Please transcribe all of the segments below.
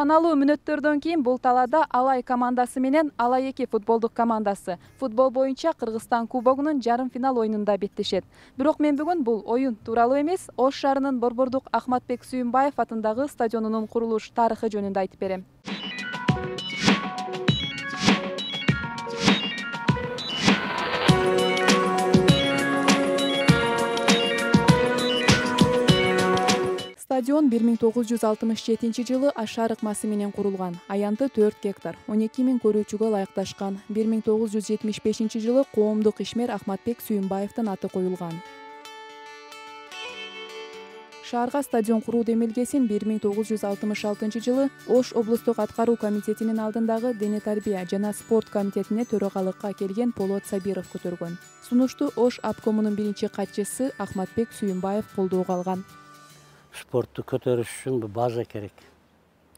Саналуу мүнөттөрдөн кийин бул талаада Алай командасы менен Алай 2 футболдук командасы футбол боюнча Кыргызстан кубогунун жарым финал оюнунда беттешет. Бирок мен бүгүн бул оюн тууралуу эмес, Ош шаарынын Борбордук Ахматбек Сүйүнбаев атындагы стадионунун курулуш тарыхы жөнүндө айтып берем. Стадион 1967 жылы ашар ыкмасы менен курулган. Аянты 4 гектар, 12 000 көрүүчүгө ылайыкташкан. 1975 жылы коомдук ишмер Ахматбек Сүйүнбаевдин аты коюлган. Шаарга стадион куруу демилгесин 1966 жылы Ош облустук аткаруу комитетинин алдындагы дене тарбия жана спорт комитетине төрагалыкка келген Полот Сабиров көтөргөн. Сунушту Ош обкомунун биринчи катчысы Ахматбек Сүйүнбаев колдоого алган. Спортту көтөрүш үчүн база керек.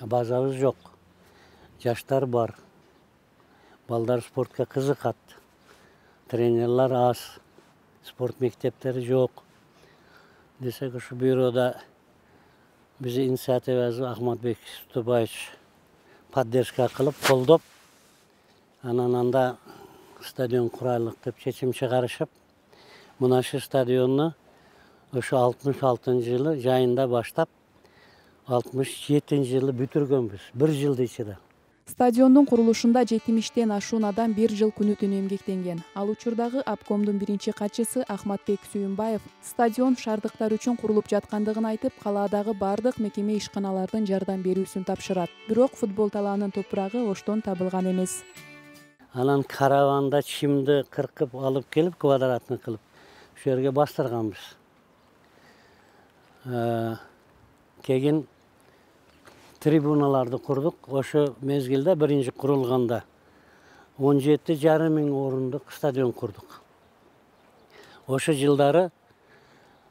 Базабыз жок. Жаштар бар. Балдар спортко кызыкат. Тренерлер аз. Спорт мектептери жок. Десек ушу бюрода биз инициативабызды Ахматбек Сүйүнбаевич поддержка кылып, колдоп, анан анда стадион курайлык деп чечим чыгарышып, мына шу стадионну ошо 66 жылы жайында баштап 67 жылы бүтүргөнбүз. 1 жылдын ичинде. Стадиондун курулушунда 70-тен ашуун адам 1 жыл күнү-түнү эмгектенген. Ал учурдагы обкомдун биринчи катчысы Ахматбек Сүйүнбаев стадион шаардыктар үчүн курулуп жаткандыгын айтып, калаадагы бардык мекеме ишканалардын жардам берүүсүн тапшырат. Бирок футбол талаанын топурагы Оштон табылган эмес. Анан караванда чимди кыркып алып келип, квадратный кылып, ошол жерге бастырганбыз. Кегин трибуналарды курдук. Ошо мезгилде биринчи курулганда 17,5 миң орундук стадион курдук. Ошо жылдары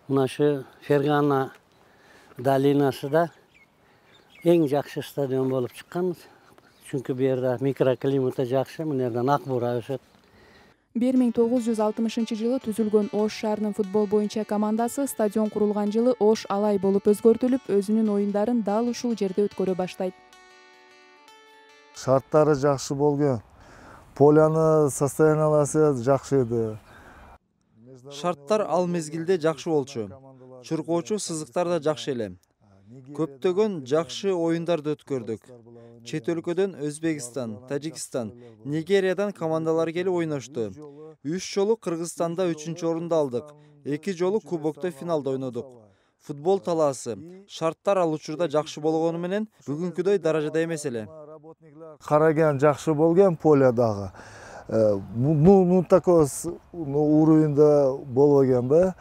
мына шу Фергана долинасында эң жакшы стадион болуп чыккан. Чүнкү бу жерде микроклиматы жакшы, мына жерден ак бура өсөт. 1960 жылы түзүлгөн Ош шаарынын футбол боюнча командасы стадион курулган жылы Ош Алай болуп өзгөртүлүп, өзүнүн оюндарын дал ушул жерде өткөрө баштайт. Шарттары жакшы болгон. Полянын состояниялары жакшы эди. Шарттар ал мезгилде жакшы болчу. Чуркоочу сызыктар да жакшы эле. Көптөгөн жакшы оюндарды өткөрдүк. Чет өлкөдөн Өзбекстан, Тажикстан, Нигериядан командалар келип ойношту. 3 жолу Кыргызстанда 3-чү орунду алдык. 2 жолу кубокто финалда ойнодук. Футбол талаасы, шарттар ал учурда жакшы болгону менен бүгүнкүдөй даражада эмес эле. Караган жакшы болгон полядагы. Такой уровеньде болбогон да.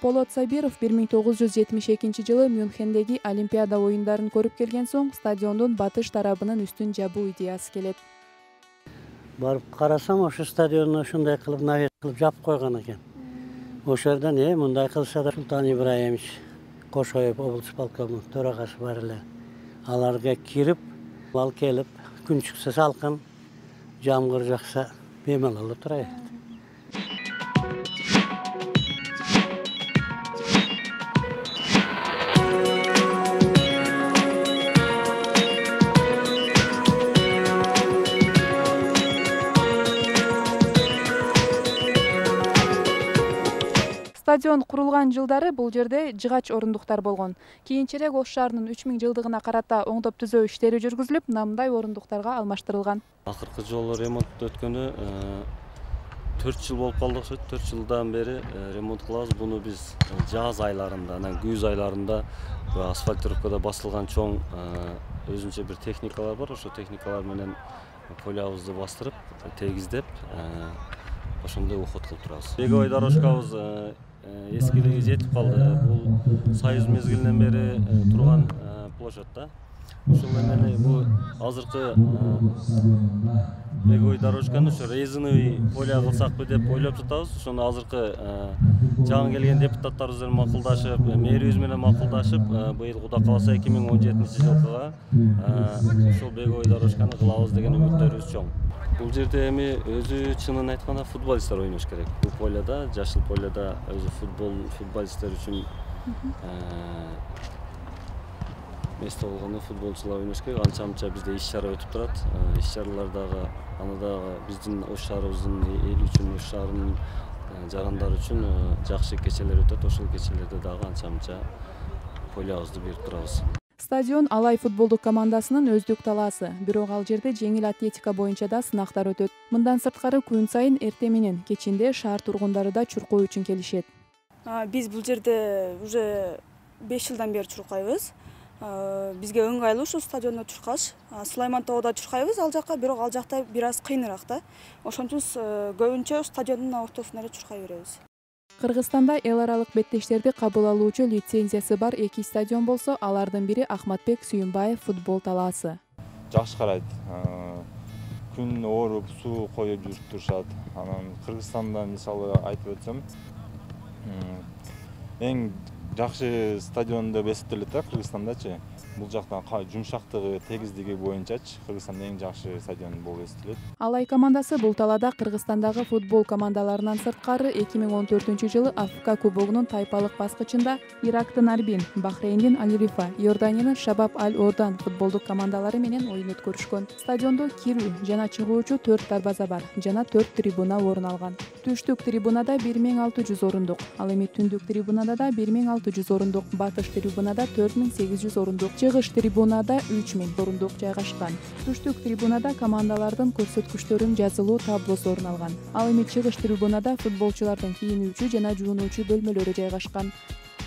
Полот Сабиров 1972 жылы Мюнхендеги Олимпиада оюндарын көрүп келген соң стадиондун батыш тарабынын үстүн жабуу идеясы келет. Барып карасам, ошо стадионду ушундай кылып навес кылып жаап койгон экен. Ошол жерден мындай кылса да Султан Ибраимович Кошоев облус полкомунун төрагасы бар эле. Аларга кирип, ал келип, күн чыкса салкын, жамгыр жакса бемалал отура берет. Стадион курулган жылдары бул жерде жыгач орундуктар болгон. Кийинчерээк Ош шаарынын 3000 жылдыгына карата оңдоп түзөө иштери жүргүзүлүп, мындай орундуктарга алмаштырылган. Акыркы жолу ремонт өткөнү 4 жыл болуп калды окшойт. 4 жылдан бери ремонт кылабыз. Буну биз жаз айларында, анан күз айларында асфальтировкада басылган чоң өзүнчө бир техникалар бар. Ошо техникалар менен полябызды бастырып, тегиздеп, ошондой уход кылып турабыз. Беговой дорожкабыз эскилиги жетип калды. Бул Союз мезгилинен бери турган площадь да. Ошол менен бул азыркы беговой дорожканы ошо резиновый поля кылсакпы деп ойлоп жатабыз. Ошону азыркы жагын келген депутаттарыбыз менен макулдашып, мэрибиз менен макулдашып, быйыл Кудай кааласа 2017 жылкыга ошол беговой дорожканы кылабыз деген үмүттөрүбүз чоң. Бул жерде эми өзү чынын айтканда футболисттер ойнош керек. Бул поляда, жашыл поляда өзү футболисттер үчүн месте болгондо футболчулар ойнош керек. Анча мынча бизде иш-чара өтүп турат. Иш-чаралардагы аны дагы биздин ош шаарыбыздын эл үчүн, ош шаарынын жарандары үчүн жакшы кечелер өтөт. Ошол кечелерде дагы анча мынча полябызды берип турабыз. Стадион Алай футболдук командасынын өздүк талаасы, бирок ал жерде жеңил атлетика боюнча да сынактар өтөт. Мындан сырткары күн сайын эртең менен кечинде шаар тургундары да чуркоо үчүн келишет. Биз бул жерде уже 5 жылдан бери чуркайбыз. Бизге ыңгайлуу ушул стадиондо чуркаш. Сулайман тоодо чуркайбыз ал жакка, бирок ал жакта бир аз кыйыныраак да. Ошон үчүн көбүнчө стадиондун ортосунда эле чуркай беребиз. Кыргызстанда эл аралык беттештерди кабыл алуучу лицензиясы бар 2 стадион болсо, алардын бири Ахматбек Сүйүнбаев футбол талаасы. Жакшы карайт. Күн ооруп, суу коюп жүрүп турушат. Анан Кыргызстанда мисалы айтып өтсөм, эң жакшы стадион деп эсептелет да Кыргызстандачы. Бул жактан жумшактыгы, тегиздиги боюнчачы Кыргызстанда эң жакшы стадион болуп эсептелет. Алай командасы бул талаада Кыргызстандагы футбол командаларынан сырткары 2014-жылы Африка кубогунун тайпалык баскычында Ирактын Арбин, Бахрейндин Аль-Рифа, Иорданиянын Шабаб Аль-Ордан футболдук командалары менен оюн өткөрүшкөн. Стадиондо кирүү жана чыгуучу 4 дарбаза бар жана 4 трибуна орун алган. Түштүк трибунада 1600 орундук, ал эми түндүк трибунада да 1600 орундук, батыш трибунада 4800 орундук, чыгыш трибунада 3000 орундук жайгашкан. Түштүк трибунада командалардын көрсөткүчтөрүнүн жазылуу таблосу орун алган. Ал эми чыгыш трибунада футболчулардын кийинүүчү жана жуунуучу бөлмөлөрү жайгашкан.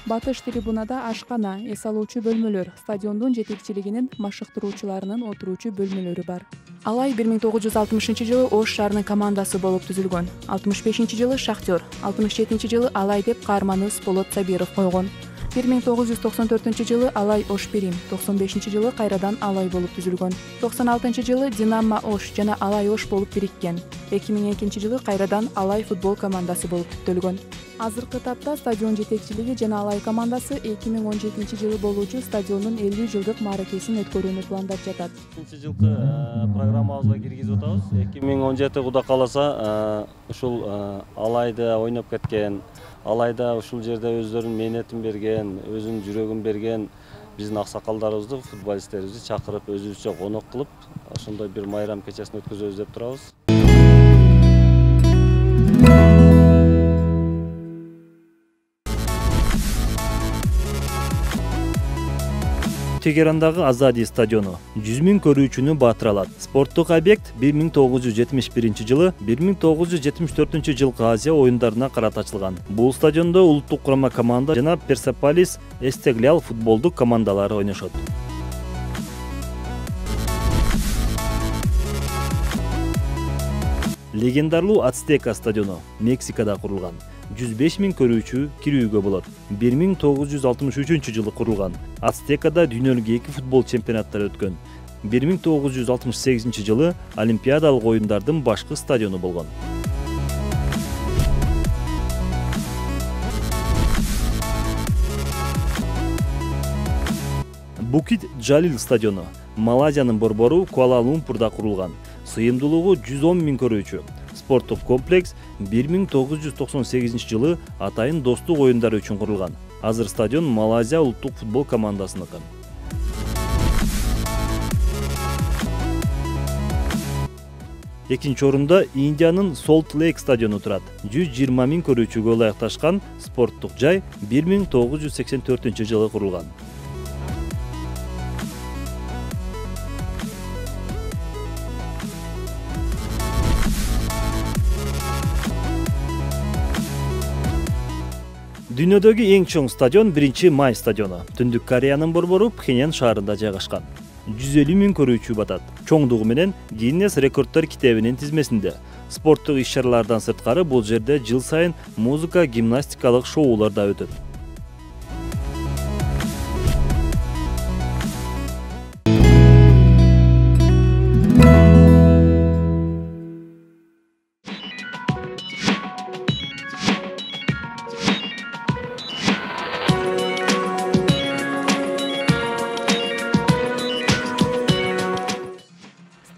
Батыш трибунада ашкана, эс алуучу бөлмөлөр, стадиондун жетекчилигинин машыктыруучуларынын отуруучу бөлмөлөрү бар. Алай 1960-жылы Ош шаарынын командасы болуп түзүлгөн. 65-жылы Шахтер, 67-жылы Алай деп каарманы Болот Сабиров койгон. 1994-жылы Алай Ош Бирим, 95-жылы кайрадан Алай болуп түзүлгөн. 96-жылы Динамо Ош жана Алай Ош болуп бириккен. 2002-жылы кайрадан Алай футбол командасы болуп түзүлгөн. Азыркы тапта стадион жетекчилиги жана Алай командасы 2017-жылы болуучу стадиондун 50 жылдык мааракесин өткөрүүнү пландап жатат. 2000-жылкы программабызга киргизип атабыз. 2017 Кудай кааласа ушул Алайда ойноп кеткен, Алайда ушул жерде өздөрүнүн мээнетин берген, өзүнүн жүрөгүн берген биздин аксакалдарыбызды, футболисттерибизди чакырып өзүбүзчө конок кылып, ошондой бир майрам кечесин өткөзөбүз деп турабыз. Тегерандагы Азади стадиону 100 000 көрүүчүнү баатыра алат. Спорттук объект 1971-жылы 1974-жылкы Азия оюндарына карата ачылган. Бул стадиондо улуттук курама команда жана Персеполис Эстеглял футболдук командалары ойношот. Легендарлуу Ацтека стадиону Мексикада курулган. 105 000 көрүүчү кирүүгө болот. 1963-жылы курулган. Ацтекада дүйнөлүк 2 футбол чемпионаттары өткөн. 1968-жылы Олимпиадалык оюндардын башкы стадиону болгон. Букит Джалил стадиону Малайзиянын борбору Куала-Лумпурда курулган. Сыйымдуулугу 110 000 көрүүчү. Спорттук комплекс 1998-жылы Атайын достук оюндары үчүн курулган. Азыр стадион Малайзия улуттук футбол командасыныкы. Экинчи орунда Индиянын Солт Лейк стадиону турат. 120 000 көрүүчүгө ылайыкташкан спорттук жай 1984-жылы курулган. Дүйнөдөгү эң чоң стадион 1-Май стадиону. Түндүк Кореянын борбору Пхеньян шаарында жайгашкан. 150 000 көрүүчү батат. Чоңдугу менен Гиннес рекорддор китебинин тизмесинде. Спорттук иш-чаралардан сырткары бул жерде жыл сайын музыка, гимнастикалык шоулар да өтөт.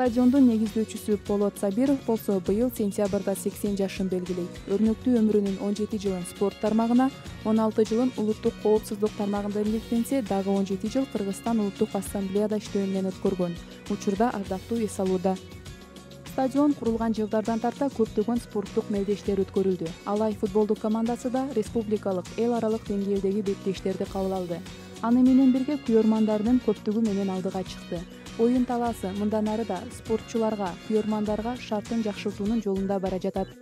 Стадиондун негиздөөчүсү Полот Сабиров болсо быйыл сентябрда 80 жашын белгилейт. Өрнөктүү өмүрүнүн 17 жылын спорт тармагына, 16 жылын улуттук коопсуздук тармагында эмгектенсе, дагы 17 жыл Кыргызстан улуттук ассамблеяда иштөө менен өткөргөн. Учурда ардактуу эс алууда. Стадион курулган жылдардан тарта көптөгөн спорттук мелдештер өткөрүлдү. Алай футболдук командасы да республикалык, эл аралык деңгээлдеги беттештерди кабыл алды. Аны менен бирге күйөрмандарынын көптүгү менен алдыга чыкты. Оюн талаасы мындан ары да спортчуларга, күйөрмандарга шартын жакшыртуунун жолунда бара жатат.